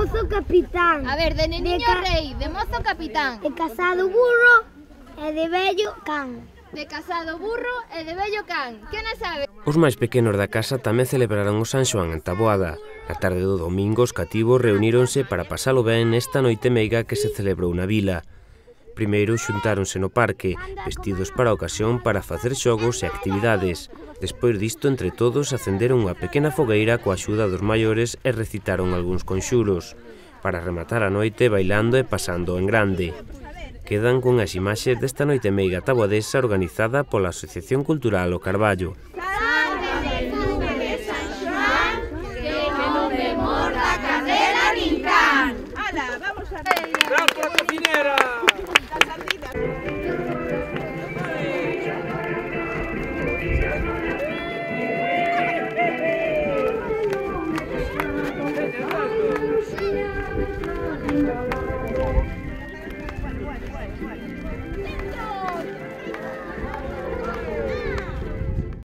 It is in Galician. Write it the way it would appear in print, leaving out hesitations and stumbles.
mozo capitán. A ver, de neniño rei, de mozo capitán. De casado burro e de vello can. De casado burro e de vello can. Que non sabe? Os máis pequenos da casa tamén celebraron o San Xoán en Taboada. Na tarde do domingo os cativos reuníronse para pasalo ben nesta noite meiga que se celebrou na vila. Primeiro xuntáronse no parque, vestidos para a ocasión para facer xogos e actividades. Despois disto, entre todos, acenderon unha pequena fogueira coa axuda dos maiores e recitaron algúns conxuros, para rematar a noite bailando e pasando en grande. Quedan cunhas imaxes desta noite meiga taboadesa organizada pola Asociación Cultural O Carballo. ¡Bravo por la cocinera!